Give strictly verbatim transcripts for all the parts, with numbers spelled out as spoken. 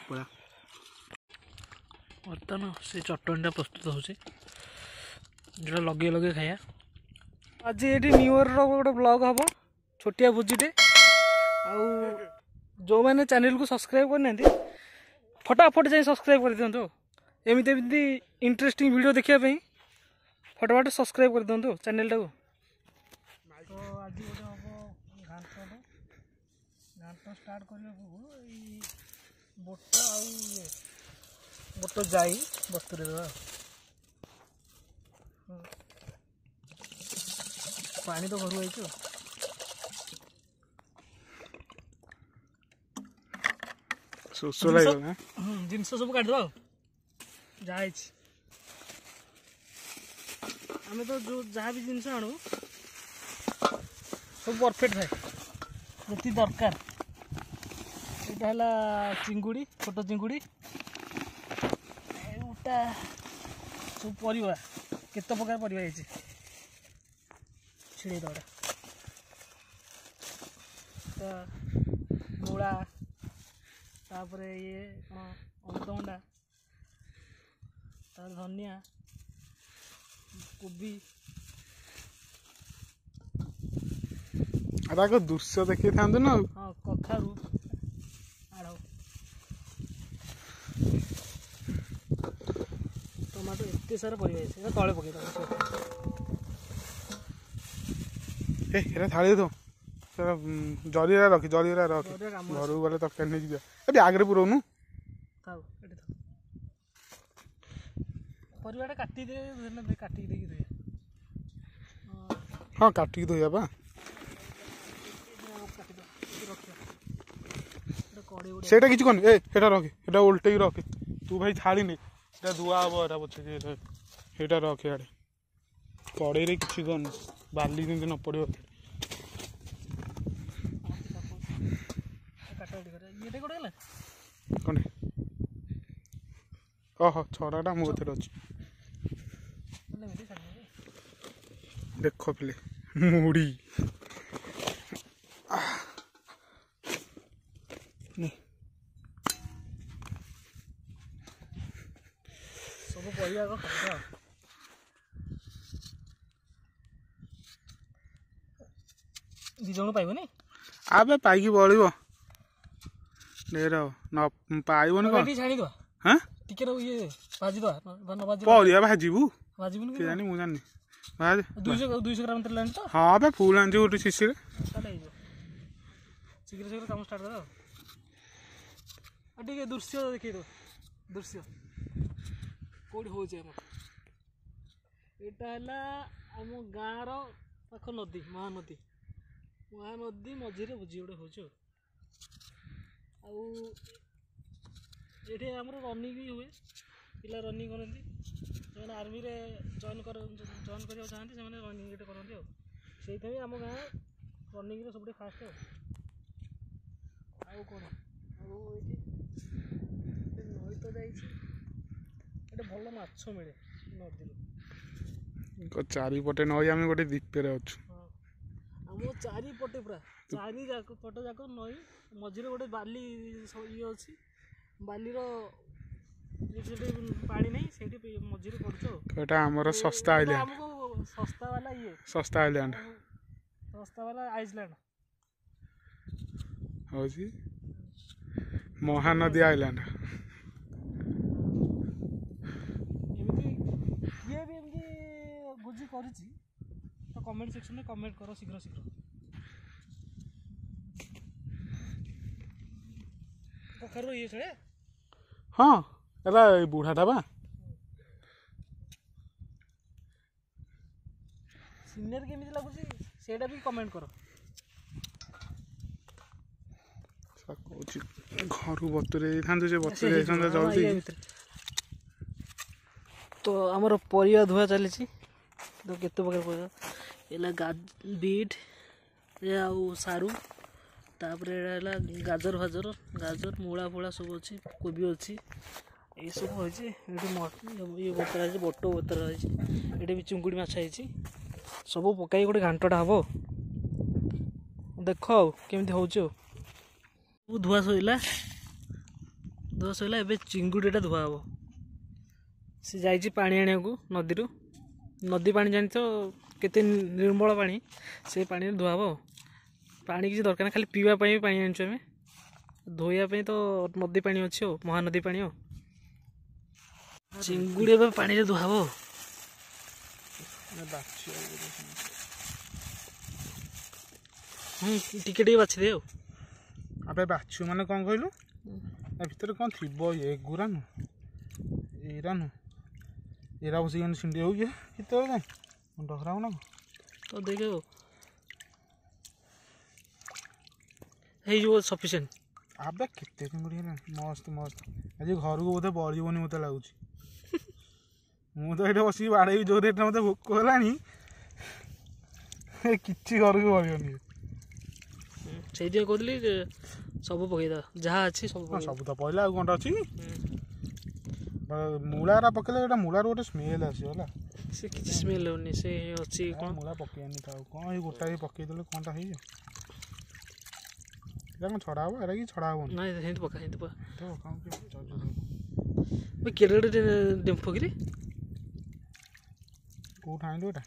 ପଳା। ବର୍ତ୍ତମାନ ସେ ଚଟଣିଟା ପ୍ରସ୍ତୁତ ହେଉଛି, ଯେଉଁଟା ଲଗେଇ ଲଗେଇ ଖାଇବା। ଆଜି ଏଇଠି ନ୍ୟୁ ଇୟର୍ର ଗୋଟେ ବ୍ଲଗ୍ ହେବ, ଛୋଟିଆ ଭୋଜିଟେ। ଆଉ ଯେଉଁମାନେ ଚ୍ୟାନେଲକୁ ସବସ୍କ୍ରାଇବ୍ କରିନାହାନ୍ତି, ଫଟାଫଟ ଯାଇ ସବସ୍କ୍ରାଇବ୍ କରିଦିଅନ୍ତୁ। ଏମିତି ଏମିତି ଇଣ୍ଟରେଷ୍ଟିଂ ଭିଡ଼ିଓ ଦେଖିବା ପାଇଁ ଫଟାଫଟ ସବସ୍କ୍ରାଇବ୍ କରିଦିଅନ୍ତୁ ଚ୍ୟାନେଲଟାକୁ। ତ ଆଜି ଗୋଟେ ହେବ ଘାଣ୍ଟଟେ। ଘାଣ୍ଟ ଷ୍ଟାର୍ଟ କରିବା ପୂର୍ବରୁ ଏଇ ବୋଟ ଆଉ ଇଏ ବୋଟ ଯାଇ ବତୁରେଇ ଦେବା। ପାଣି ତ ଘରୁ ଆଇଛୁ। ଶୋଷ ଲାଗିବ। ଜିନିଷ ସବୁ କାଟିଦେବା ଆଉ ଯାହା ହେଇଛି। ଆମେ ତ ଯେଉଁ ଯାହା ବି ଜିନିଷ ଆଣୁ ସବୁ ପରଫେକ୍ଟ ଥାଏ, ଯେତିକି ଦରକାର। ଏଇଟା ହେଲା ଚିଙ୍ଗୁଡ଼ି, ଛୋଟ ଚିଙ୍ଗୁଡ଼ି। ଏଇଟା ସବୁ ପରିବା, କେତେ ପ୍ରକାର ପରିବା ହେଇଛି। ଛିଡ଼େଇ ଦେବା। ତ ମୂଳା, ତାପରେ ଇଏ କ'ଣ ଅମୃତଭଣ୍ଡା, ତାପରେ ଧନିଆ, କୋବି। ଆଉ ତାକୁ ଦୃଶ୍ୟ ଦେଖେଇଥାନ୍ତୁ ନା ଆଉ। ହଁ, କଖାରୁ, ଆଡ଼ଉ, ଟମାଟୋ, ଏତେ ସାରା ପରିବା ହେଇଛି। ଏଟା ତଳେ ପକେଇଦେବା। ଏ ଏଟା ଥାଳି ଥୋ, ସେଟା ଜରିରା ରଖି, ଜରିରା ରଖି, ଘରକୁ ଗଲେ ତରକାରୀ ନେଇକି ଯିବା। ଏ ବ୍ୟାଗରେ ପୁରଉନୁ। ଥାଉ, ଏଠି ଥାଉ। ପରିବାଟା କାଟି ଦେ, କାଟିକି ଦେଇକି ଧୋଇବା। ହଁ, କାଟିକି ଧୋଇବା ପା। ସେଇଟା କିଛି କରନି। ଏ ସେଇଟା ରଖେ, ସେଇଟା ଓଲଟେଇକି ରଖେ। ତୁ ଭାଇ ଥାଳି ନେ, ସେଇଟା ଧୁଆ ହବ। ଏଟା ପଛକେ ସେଇଟା ରଖେ ଆଡ଼େ। କଡ଼େଇରେ କିଛି କରନି, ବାଲି ଯେମିତି ନ ପଡ଼ିବ। କ'ଣ ଓହୋ, ଛଡ଼ାଟା ମୋ କତିରେ ଅଛି। ଦେଖ ପିଲେ, ମୁଢ଼ି ସବୁ ପରିବା ଖାଇବା। ଦି ଜଣ ପାଇବନି? ଆବେ ପାଇକି ବଳିବ, ଢେର ନ ପାଇବନି। କ'ଣ ଛାଣିଦବା? ହଁ, ଟିକେ ଇଏ ଭାଜିଦବା। ନ ଭାଜି ପରିବା ଭାଜିବୁ? ଭାଜିବୁନି? କେଜାଣି, ମୁଁ ଜାଣିନି। ଦୁଇଶହ ଦୁଇଶହ ଗ୍ରାମ ତେଲ ଆଣିଛ? ହଁ ବେ, ଫୁଲ ଆଣିଛୁ ଗୋଟେ ଶିଶିରେ। ତାହେଲେ ହେଇଯିବ। ଶୀଘ୍ର ଶୀଘ୍ର କାମ ଷ୍ଟାର୍ଟ କର। ଆଉ ଟିକେ ଦୃଶ୍ୟ ଦେଖେଇଦେବ, ଦୃଶ୍ୟ କୋଉଠି ହେଉଛି ଆମର। ଏଇଟା ହେଲା ଆମ ଗାଁର ପାଖ ନଦୀ, ମହାନଦୀ। ମହାନଦୀ ମଝିରେ ଭୋଜି ଗୋଟେ ହେଉଛି। ଆଉ ଏଠି ଆମର ରନିଂ ବି ହୁଏ, ପିଲା ରନିଂ କରନ୍ତି। ଯେଉଁମାନେ ଆର୍ମିରେ ଜଏନ୍ କର ଜଏନ୍ କରିବାକୁ ଚାହାନ୍ତି, ସେମାନେ ରନିଂ ଏଠି କରନ୍ତି। ଆଉ ସେଇଥିପାଇଁ ଆମ ଗାଁ ରନିଂରେ ସବୁଠୁ ଫାଷ୍ଟ। ଆଉ ଆଉ କ'ଣ? ଆଉ ଏଇଠି ନଈ ତ ଯାଇଛି, ଏଠି ଭଲ ମାଛ ମିଳେ ନଦୀରୁ। ଚାରିପଟେ ନଈ, ଆମେ ଗୋଟେ ଦ୍ୱୀପରେ ଅଛୁ। ହଁ, ଆମ ଚାରିପଟେ ପୁରା ଚାରି ଯାକ ପଟ ଯାକ ନଈ, ମଝିରେ ଗୋଟେ ବାଲି ଇଏ ଅଛି, ବାଲିର ସେଠି ପାଣି ନାହିଁ, ସେଇଠି ମଝିରେ କରୁଛୁ। ଆଉ ଏଟା ଆମର ଶସ୍ତା ଆଇଲ୍ୟାଣ୍ଡ। ଆମକୁ ଶସ୍ତା ବାଲା ଇଏ, ଶସ୍ତା ଆଇଲ୍ୟାଣ୍ଡ, ଶସ୍ତା ବାଲା ଆଇସଲ୍ୟାଣ୍ଡ ହଉଛି ମହାନଦୀ ଆଇଲ୍ୟାଣ୍ଡ। ଏମିତି କିଏ ବି ଏମିତି ଭୋଜି କରିଛି ତ କମେଣ୍ଟ ସେକ୍ସନରେ କମେଣ୍ଟ କର ଶୀଘ୍ର ଶୀଘ୍ର। କଖାରୁ ଇଏ ଛଡ଼େ। ହଁ, ଏଟା ଏଇ ବୁଢ଼ାଟା ବା। ସିନେରୀ କେମିତି ଲାଗୁଛି ସେଇଟା ବି କମେଣ୍ଟ କର। କହୁଛି ଘରୁ ବତୁରେଇ ଦେଇଥାନ୍ତୁ, ସେ ବତୁରେଇ ଦେଇଥାନ୍ତା ଜଲ୍ଦି। ତ ଆମର ପରିବା ଧୁଆ ଚାଲିଛି। ତ କେତେ ପ୍ରକାର ପରିବା ହେଲା, ବିଟ୍ ଆଉ ସାରୁ, ତାପରେ ଏଇଟା ହେଲା ଗାଜର ଫାଜର, ଗାଜର, ମୂଳା ଫୂଳା ସବୁ ଅଛି, କୋବି ଅଛି, ଏଇସବୁ ହେଇଛି। ଏଠି ଇଏ ବତରା ହେଇଛି, ବଟ ବତରା ହେଇଛି, ଏଠି ବି ଚିଙ୍ଗୁଡ଼ି ମାଛ ହେଇଛି। ସବୁ ପକାଇ ଗୋଟେ ଘାଣ୍ଟଟା ହେବ। ଦେଖ ଆଉ କେମିତି ହେଉଛି। ଆଉ ଧୁଆ ସରିଲା, ଧୁଆ ସରିଲା। ଏବେ ଚିଙ୍ଗୁଡ଼ିଟା ଧୁଆ ହେବ। ସେ ଯାଇଛି ପାଣି ଆଣିବାକୁ ନଦୀରୁ। ନଦୀ ପାଣି ଜାଣିଛ କେତେ ନିର୍ମଳ ପାଣି, ସେ ପାଣିରେ ଧୁଆ ହେବ। ପାଣି କିଛି ଦରକାର ନାହିଁ, ଖାଲି ପିଇବା ପାଇଁ ବି ପାଣି ଆଣିଛୁ ଆମେ। ଧୋଇବା ପାଇଁ ତ ନଦୀ ପାଣି ଅଛି ଆଉ, ମହାନଦୀ ପାଣି। ଆଉ ଚିଙ୍ଗୁଡ଼ି ଏବେ ପାଣିରେ ଧୁଆ ହେବ। ହୁଁ, ଟିକେ ଟିକେ ବାଛି ଦେ। ଆଉ ଆବେ ବାଛୁ ମାନେ କ'ଣ କହିଲୁ, ତା ଭିତରେ କ'ଣ ଥିବ? ଏଗୁରା ନୁହଁ, ଏଇରା ନୁହଁ, ଏରା ବସିକି ଛିଣ୍ଡି ହେଉଛି କେତେବେଳେ ଯାଏଁ ମୁଣ୍ଡ ଖରାପ ନା। ତ ଦେଖେ, ହେଇଯିବ ସଫିସିଏଣ୍ଟ। ଆବେ କେତେ ଚିଙ୍ଗୁଡ଼ି ହେଲାଣି, ମସ୍ତ ମସ୍ତ। ଆଜି ଘରକୁ ବୋଧେ ବଳିବନି ମୋତେ ଲାଗୁଛି। ମୁଁ ତ ଏଇଠି ବସିକି ବାଡ଼େଇବି ଯୋଉ ରେଟ୍ରେ ମୋତେ ଭୋକ ହେଲାଣି, କିଛି ଘରକୁ ବଳିବନି। ସେଇଥିପାଇଁ କହୁଥିଲି ସବୁ ପକେଇଦବା, ଯାହା ଅଛି ସବୁ। ସବୁ ତ ପଡ଼ିଲା, ଆଉ କ'ଣଟା ଅଛି? ମୂଳାଟା ପକେଇଲେ ଏଇଟା ମୂଳାରୁ ଗୋଟେ ସ୍ମେଲ୍ ଆସିବ ହେଲା। ସେ କିଛି ସ୍ମେଲ୍ ହେଉନି, ସେ ଅଛି କ'ଣ ମୂଳା ପକେଇବାନି ଥାଉ। କ'ଣ ଏଇ ଗୋଟାଏ ପକେଇଦେଲେ କ'ଣଟା ହେଇଯିବ? ଏଇଟା କ'ଣ ଛଡ଼ା ହବ? ଏଇଟା କି ଛଡ଼ା ହବନି। ନାଇଁ, ସେମିତି ପକା, ସେମିତି ପକା। କେଡ଼େ କେଡ଼େ ଡେମ୍ଫ କିରେ, କେଉଁଠୁ ଆଣିଲୁ ଏଇଟା?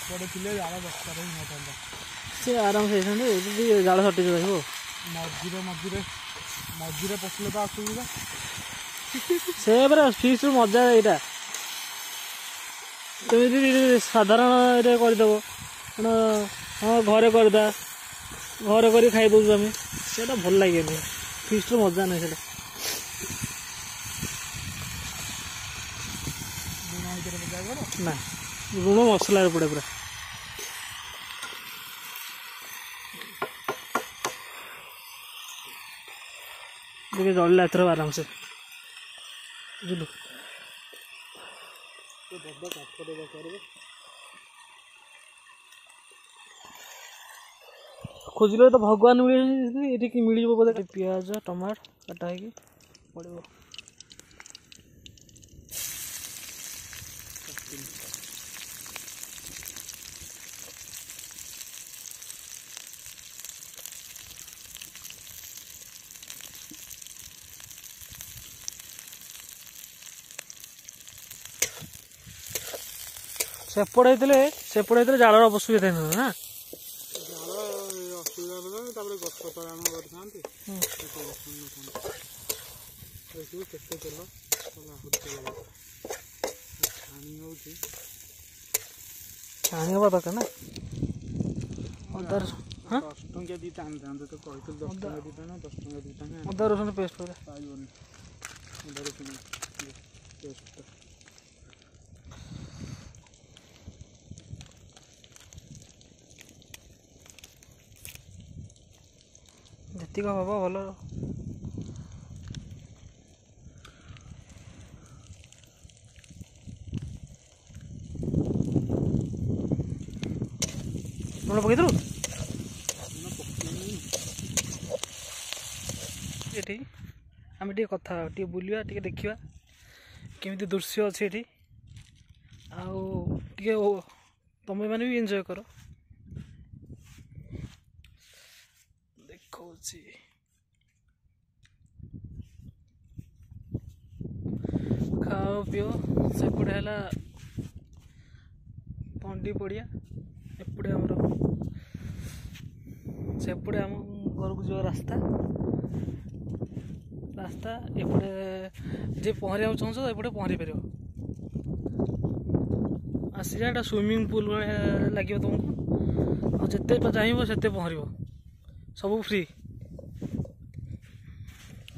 ଏପଟେ ଥିଲେ ଜାଳ ଦରକାର ହେଇନଥାନ୍ତା। ସେ ଆରାମସେ ହେଇଥାନ୍ତେ ଯଦି ଜାଳ ସର୍ଟେଜ ରହିବ। ମଝିରେ ମଝିରେ ମଝିରେ ପଶିଲେ ତ ଅସୁବିଧା। ସେ ପରା ଫିଷ୍ଟର ମଜା ଏଇଟା। ତୁମେ ଯଦି ସାଧାରଣରେ କରିଦେବ, ହଁ ଘରେ କରିଦବା, ଘରେ କରି ଖାଇଦେଉଛୁ ଆମେ, ସେଇଟା ଭଲ ଲାଗେନି। ଫିଷ୍ଟର ମଜା ନାହିଁ ସେଇଟା। ଲୁଣ ନା, ଲୁଣ ମସଲାରେ ପଡ଼େ ପୁରା। ଟିକେ ଜଳିଲା ଏଥର ଆରାମସେ, ବୁଝିଲୁ? ଖୋଜିଲେ ତ ଭଗବାନ ମିଳିଛନ୍ତି, ଏଠି ମିଳିଯିବ ବୋଧେ। ପିଆଜ ଟମାଟୋ କଟା ହେଇକି ପଡ଼ିବ। ସେପଟେ ହେଇଥିଲେ, ସେପଟେ ହେଇଥିଲେ ଜାଳର ଅସୁବିଧା ହେଇଥାନ୍ତା ନା? ଜାଳ ଅସୁବିଧା ହେଇଥାନ୍ତା, ତାପରେ ଗଛ ତଳେ ଆମେ କରିଥାନ୍ତି, ଦେଖିବୁ କେତେ ତେଲ। ଆହୁରି ତେଲ ଛାଣି ହେଉଛି। ଛାଣି ହବା ଦରକାର ନା ଅଦା? ଦଶ ଟଙ୍କିଆ ଦୁଇଟା ଆଣିଥାନ୍ତେ ତ, କହିଥିଲି ଦଶ ଟଙ୍କା ଦୁଇଟା ନା, ଦଶ ଟଙ୍କା ଦୁଇଟା। ଅଦା ରସୁଣ ପେଷ୍ଟ ପୁରା ପାଇବନି ଅଦା ରସୁଣ ପେଷ୍ଟଟା। ଯେତିକ ହବ ଭଲ। ଲୁଣ ପକେଇଥିଲୁ ଏଠି? ଆମେ ଟିକେ କଥା, ଟିକେ ବୁଲିବା, ଟିକେ ଦେଖିବା କେମିତି ଦୃଶ୍ୟ ଅଛି ଏଠି, ଆଉ ଟିକେ ତମେମାନେ ବି ଏନ୍ଜୟ କର। ଦେଖାଉଛି, ଖାଅ ପିଅ। ସେପଟେ ହେଲା ତଣ୍ଡି ପଡ଼ିଆ, ଏପଟେ ଆମର, ସେପଟେ ଆମ ଘରକୁ ଯିବା ରାସ୍ତା ରାସ୍ତା ଏପଟେ ଯିଏ ପହଁରିବାକୁ ଚାହୁଁଛ ଏପଟେ ପହଁରି ପାରିବ ଆସିଲେ। ଏଇଟା ସୁଇମିଂ ପୁଲ୍ ଭଳିଆ ଲାଗିବ ତୁମକୁ, ଆଉ ଯେତେ ଚାହିଁବ ସେତେ ପହଁରିବ, ସବୁ ଫ୍ରି।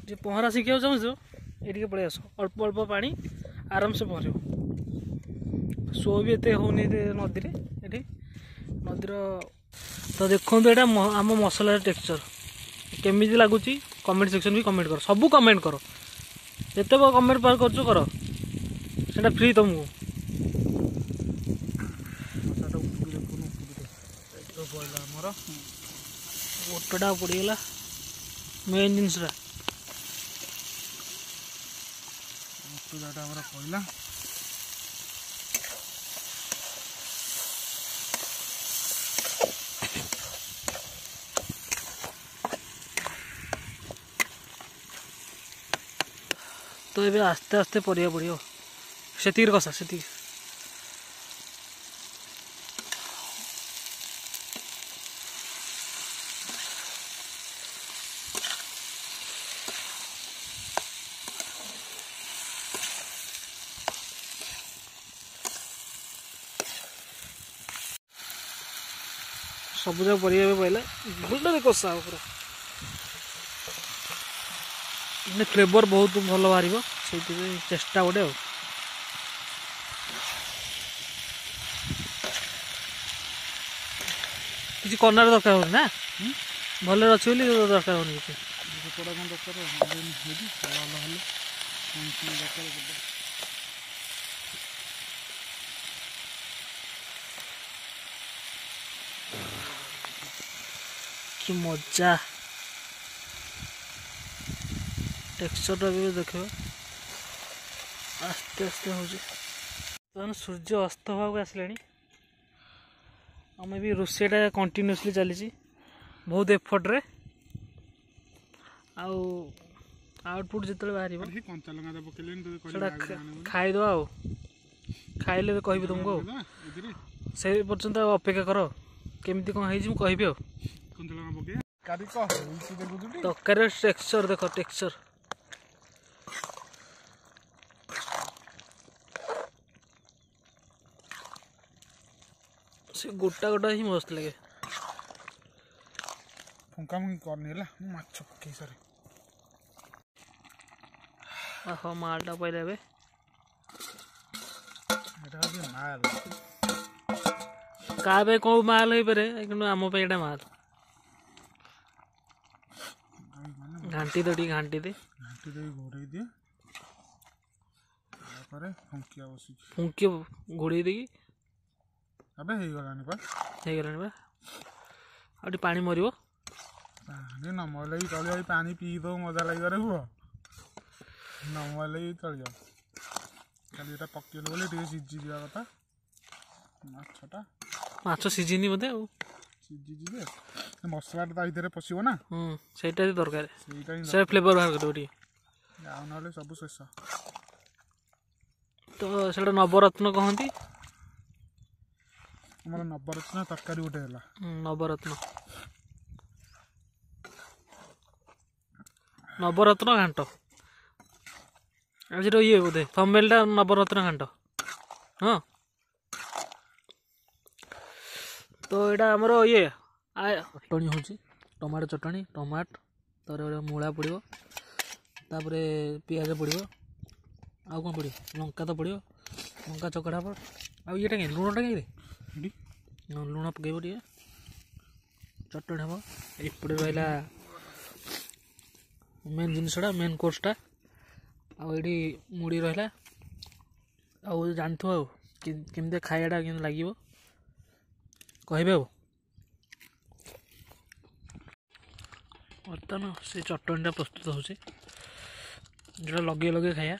ଯିଏ ପହଁରା ଶିଖିବାକୁ ଚାହୁଁଛ ଏଇଠିକି ପଳେଇ ଆସ। ଅଳ୍ପ ଅଳ୍ପ ପାଣି, ଆରାମସେ ପହଁରିବ। ସୁଅ ବି ଏତେ ହେଉନି ନଦୀରେ ଏଠି ନଦୀର। ତ ଦେଖନ୍ତୁ, ଏଇଟା ଆମ ମସଲାର ଟେକ୍ସଚର୍ କେମିତି ଲାଗୁଛି, କମେଣ୍ଟ ସେକ୍ସନ୍ ବି କମେଣ୍ଟ କର, ସବୁ କମେଣ୍ଟ କର, ଯେତେ କମେଣ୍ଟ ପାର କରୁଛ କର, ସେଇଟା ଫ୍ରି ତୁମକୁ। ଆମର ଗୋଟଟା ପଡ଼ିଗଲା ମେନ୍ ଜିନିଷଟା। ଆମର ପଡ଼ିଲା। ତ ଏବେ ଆସ୍ତେ ଆସ୍ତେ ପରିବା ପଡ଼ିବ। ସେତିକିରେ କଷା, ସେତିକି। ସବୁଯାକ ପରିବା ଏବେ ପଡ଼ିଲା, ଭଲରେ କଷା ହବ ପୁରା, ମାନେ ଫ୍ଲେଭର ବହୁତ ଭଲ ବାହାରିବ, ସେଇଥିପାଇଁ ଚେଷ୍ଟା ଗୋଟେ। ଆଉ କିଛି କର୍ଣ୍ଣର ଦରକାର ହଉନି ନା, ଭଲରେ ଅଛି ବୋଲି ଦରକାର ହଉନି କିଛି। ସେପଟା କ'ଣ ଦରକାର ହେଲେ ଦରକାର। କି ମଜା ଟେକ୍ସଚରଟା ବି ଦେଖିବ, ଆସ୍ତେ ଆସ୍ତେ ହେଉଛି। ବର୍ତ୍ତମାନ ସୂର୍ଯ୍ୟ ଅସ୍ତ ହେବାକୁ ଆସିଲାଣି, ଆମେ ବି ରୋଷେଇଟା କଣ୍ଟିନ୍ୟୁଅସଲି ଚାଲିଛି ବହୁତ ଏଫର୍ଟରେ, ଆଉ ଆଉଟପୁଟ୍ ଯେତେବେଳେ ବାହାରିବ ସେଟା ଖାଇଦେବା, ଆଉ ଖାଇଲେ କହିବି ତୁମକୁ। ଆଉ ସେ ପର୍ଯ୍ୟନ୍ତ ଅପେକ୍ଷା କର, କେମିତି କ'ଣ ହେଇଛି ମୁଁ କହିବି। ଆଉ ତରକାରୀର ଟେକ୍ସଚର ଦେଖ, ଟେକ୍ସଚର ସେ ଗୋଟା ଗୋଟା ହିଁ ମସ୍ତ ଲାଗେ। ଫୁଙ୍କା ଫୁଙ୍କି କରନି ହେଲା, ମୁଁ ମାଛ ପକେଇ ସାରେ। ଓହୋ, ମାଲଟା ପାଇଲା ଏବେ। ଏଇଟା ହେଉଛି ମାଲ। କାହା ପାଇଁ କେଉଁ ମାଲ ହେଇପାରେ, କିନ୍ତୁ ଆମ ପାଇଁ ଏଇଟା ମାଲ। ଘାଣ୍ଟି ଦେ ଟିକେ, ଘାଣ୍ଟି ଦେ। ଘାଣ୍ଟି ଦେଇ ଘୋଡ଼େଇ ଦିଏ, ତାପରେ ଫୁଙ୍କିଆ ବସିକି। ଫୁଙ୍କି ଘୋଡ଼େଇ ଦେଇକି। ଏବେ ହେଇଗଲାଣି ପା। ହେଇଗଲାଣି ବା, ଆଉ ଟିକେ ପାଣି ମରିବ। ପାଣି ନ ମରିଲେ ବି ଚଳିବ। ଏଇ ପାଣି ପିଇ ଦଉ, ମଜା ଲାଗିବ ରେ ପୁଅ। ନ ମରିଲେ ବି ଚଳିବ, ଖାଲି ଏଇଟା ପକେଇଲୁ ବୋଲି ଟିକେ ସିଝିଯିବା କଥା ମାଛଟା। ମାଛ ସିଝିନି ବୋଧେ ଆଉ। ସିଝିଛି ଯେ, ମସଲାଟା ତା ଭିତରେ ପଶିବ ନା। ହୁଁ, ସେଇଟା ବି ଦରକାର। ସେଇଟା ହିଁ ସେ ଫ୍ଲେଭର ବାହାର କରିବ ଟିକେ। ଆଉ ନହେଲେ ସବୁ ଶେଷ। ତ ସେଇଟା ନବରତ୍ନ କହନ୍ତି। ଆମର ନବରତ୍ନ ତରକାରୀ ଗୋଟେ ହେଲା। ହୁଁ, ନବରତ୍ନ, ନବରତ୍ନ ଘାଣ୍ଟ ଆଜିର ଇଏ ବୋଧେ ଥମ୍ବନେଲଟା, ନବରତ୍ନ ଘାଣ୍ଟ। ହଁ, ତ ଏଇଟା ଆମର ଇଏ ଚଟଣି ହେଉଛି, ଟମାଟୋ ଚଟଣି। ଟମାଟ, ତାପରେ ମୂଳା ପଡ଼ିବ, ତାପରେ ପିଆଜ ପଡ଼ିବ, ଆଉ କ'ଣ ପଡ଼ିବ? ଲଙ୍କା ତ ପଡ଼ିବ, ଲଙ୍କା ଚକଟା ହେବ। ଆଉ ଇଏଟା କାହିଁ, ଲୁଣଟା କାହିଁ ରେ? ଏଠି। ହଁ, ଲୁଣ ପକେଇବ ଟିକେ, ଚଟଣି ହେବ। ଏପଟେ ରହିଲା ମେନ୍ ଜିନିଷଟା, ମେନ୍ କୋର୍ସଟା। ଆଉ ଏଇଠି ମୁଢ଼ି ରହିଲା। ଆଉ ଜାଣିଥିବ ଆଉ କେମିତି ଖାଇବାଟା କେମିତି ଲାଗିବ କହିବେ। ଆଉ ବର୍ତ୍ତମାନ ସେ ଚଟଣିଟା ପ୍ରସ୍ତୁତ ହେଉଛି, ଯେଉଁଟା ଲଗେଇ ଲଗେଇ ଖାଇବା।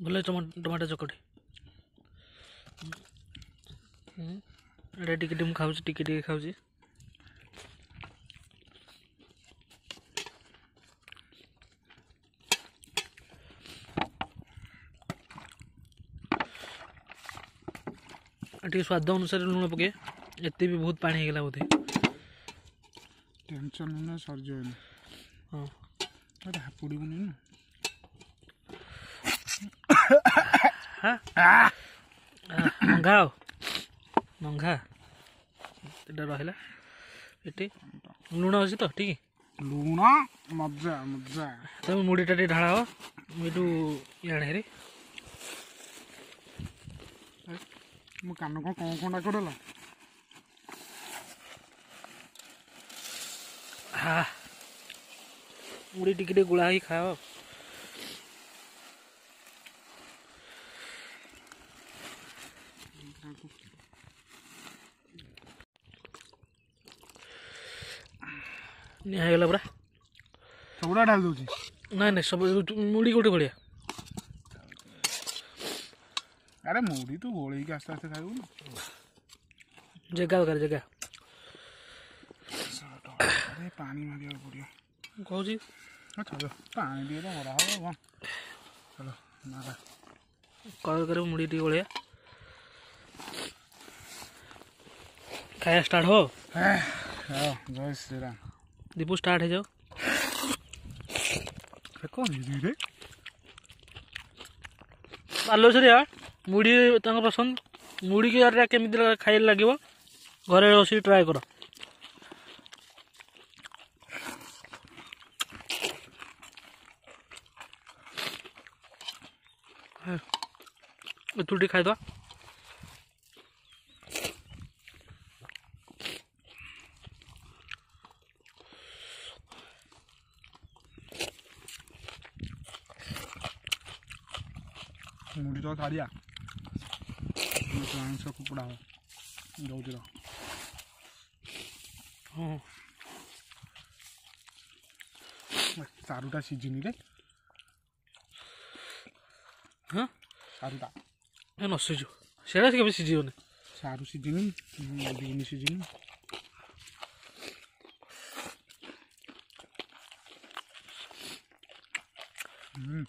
ଭଲ ଟମାଟୋ ଚକଟି। ଏଇଟା ଟିକେ ଟିକେ ମୁଁ ଖାଉଛି, ଟିକେ ଟିକେ ଖାଉଛି। ଟିକେ ସ୍ୱାଦ ଅନୁସାରେ ଲୁଣ ପକେଇ। ଏତେ ବି ବହୁତ ପାଣି ହେଇଗଲା ବୋଧେ। ଟେନସନ୍ ନୁହେଁ, ସରିଯିବ। ହଁ, ଏଟା ହାପୁଡ଼ିବୁନି ନା? ମଙ୍ଘା, ଆଉ ମଙ୍ଘା ଏଟା ରହିଲା ଏଠି। ଲୁଣ ଅଛି ତ ଠିକ? ଲୁଣ ମଜା ମଜା। ତମେ ମୁଢ଼ିଟା ଟିକେ ଢାଳା ହବ, ମୁଁ ଏଇଠୁ ଇଆଡ଼େ ହେରି। ମୋ କାନ କଣ କଣ କଣ ଡାକଡଲା। ହଁ, ମୁଢ଼ି ଟିକେ ଟିକେ ଗୋଳା ହେଇକି ଖାଅ। ନିଆଁ ହେଇଗଲା ପୁରା। ସବୁଟା ଢାଳି ଦଉଛି। ନାଇଁ ନାଇଁ, ସବୁ ମୁଢ଼ି ଗୋଟେ ଭଳିଆ। ଆରେ ମୁଢ଼ି ତୁ ଗୋଳେଇକି ଆସ୍ତେ ଆସ୍ତେ ଖାଇବୁ ନା। ଜାଗା ଦରକାର, ଜାଗା। ଆରେ ପାଣି ମାରିବାକୁ ପଡ଼ିବ। ମୁଁ କହୁଛି। ଚାଲ, ପାଣି ଟିକେ ତ ମରା ହବ କଣ। ଚାଲ ମାରା। କର କର, ମୁଢ଼ି ଟିକେ ଗୋଳେଇବା, ଖାଇବା ଷ୍ଟାର୍ଟ ହବ। ଜୟ ଶ୍ରୀରାମ। ଦୀପୁ, ଷ୍ଟାର୍ଟ ହେଇଯାଉ। କଣ ହେଇଛି ରେ? ବାଲେଶ୍ୱରିଆ ମୁଢ଼ି ତାଙ୍କ ପସନ୍ଦ। ମୁଢ଼ିକି ଏଟା କେମିତି ଖାଇଲେ ଲାଗିବ, ଘରେ ବସିକି ଟ୍ରାଏ କର। ଏଥିରୁ ଟିକେ ଖାଇଦେବା। ମୁଢ଼ି ତ ଛାଡ଼ିଆ, ଆଇଁଷ କୁକୁଡ଼ା ହବ ଦଉଛି। ହଁ, ସାରୁଟା ସିଝିନି ରେ। ହଁ, ସାରୁଟା ଏ ନ ସିଝୁ, ସେଇଟା କେବେ ସିଝିବନି। ସାରୁ ସିଝିନି, ବିନ୍ ସିଝିନି। ହୁଁ,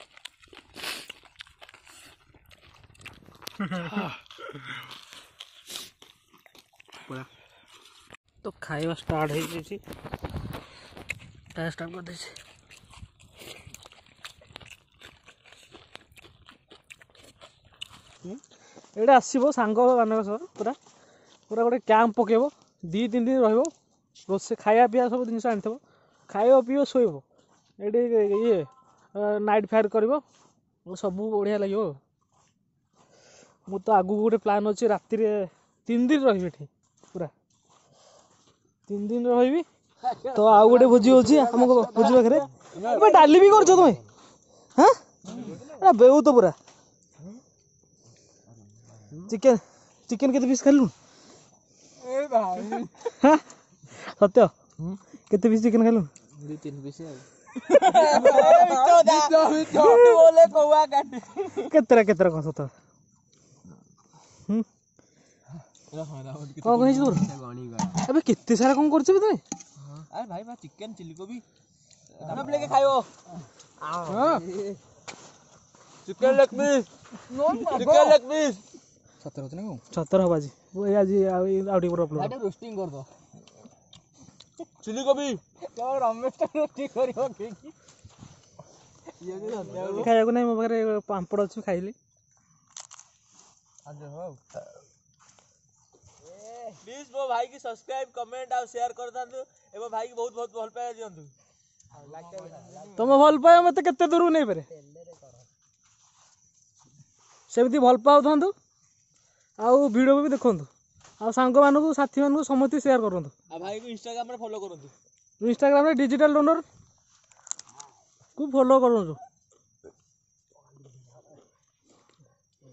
ତ ଖାଇବା ଷ୍ଟାର୍ଟ ହେଇଯାଇଛି, ଖାଇବା ଷ୍ଟାର୍ଟ କରିଦେଇଛି। ଏଇଟା ଆସିବ ସାଙ୍ଗମାନଙ୍କ ସହ, ପୁରା ପୁରା ଗୋଟେ କ୍ୟାମ୍ପ ପକେଇବ, ଦୁଇ ତିନି ଦିନ ରହିବ, ରୋଷେଇ ଖାଇବା ପିଇବା ସବୁ ଜିନିଷ ଆଣିଥିବ, ଖାଇବ ପିଇବ ଶୋଇବ ଏଇଠି, ଇଏ ନାଇଟ୍ ଫାୟାର୍ କରିବ। ସବୁ ବଢ଼ିଆ ଲାଗିବ। ମୁଁ ତ ଆଗକୁ ଗୋଟେ ପ୍ଲାନ୍ ଅଛି, ରାତିରେ ତିନି ଦିନ ରହିବି ଏଠି, ପୁରା ତିନି ଦିନ ରହିବି। ତ ଆଉ ଗୋଟେ ଭୋଜି ହେଉଛି ଆମ ଭୋଜି ପାଖରେ। ଏବେ ଡାଲି ବି କରୁଛ ତୁମେ? ହଁ, ଏଟା ବେଉ ତ ପୁରା। ଚିକେନ, ଚିକେନ କେତେ ପିସ୍ ଖାଇଲୁ? ହଁ ସତ୍ୟ, କେତେ ପିସ୍ ଚିକେନ ଖାଇଲୁ? ଦୁଇ ତିନି ପିସ୍। ଆଉ କେତେଟା କେତେଟା କ'ଣ ସତ? କ'ଣ କ'ଣ ହେଇଛି ତୋର? ଏବେ କେତେ ସାରା କ'ଣ କରୁଛ ତୁମେ? ଆରେ ଭାଇ, ଚିକେନ ଚିଲି କୋବି ଖାଇବ? Chicken leg piece, chicken leg piece. ସତରେ ହଉଛି ନା କଣ? ସତରେ ହବ ଆଜି, ଆଜି ଆଉ ଆଉ ଟିକେ ପରେ ଅପଲୋଡ଼। ରୋଷ୍ଟିଂ କରିଦବ ଚିଲି କୋବି। ରମେଶ ରୋଷ୍ଟିଂ କରିବ ଖାଇବାକୁ? ନାହିଁ, ମୋ ପାଖରେ ପାମ୍ପଡ଼ ଅଛି, ଖାଇଲି। ପ୍ଲିଜ୍ ମୋ ଭାଇକି ସବସ୍କ୍ରାଇବ୍, କମେଣ୍ଟ ଆଉ ସେୟାର କରିଥାନ୍ତୁ ଏବଂ ଭାଇକି ବହୁତ ବହୁତ ଭଲ ପାଇବା ଦିଅନ୍ତୁ। ତମ ଭଲ ପାଇବା ମତେ କେତେ ଦୂରକୁ ନେଇପାରେ, ସେମିତି ଭଲ ପାଉଥାନ୍ତୁ ଆଉ ଭିଡ଼ିଓ ବି ଦେଖନ୍ତୁ ଆଉ ସାଙ୍ଗମାନଙ୍କୁ, ସାଥିମାନଙ୍କୁ ସମସ୍ତେ ସେୟାର କରନ୍ତୁ। ଆଉ ଭାଇକୁ ଇନଷ୍ଟାଗ୍ରାମରେ ଫଲୋ କରନ୍ତୁ। ଇନଷ୍ଟାଗ୍ରାମରେ ଡିଜିଟାଲ ଡୋନର କୁ ଫଲୋ କରନ୍ତୁ।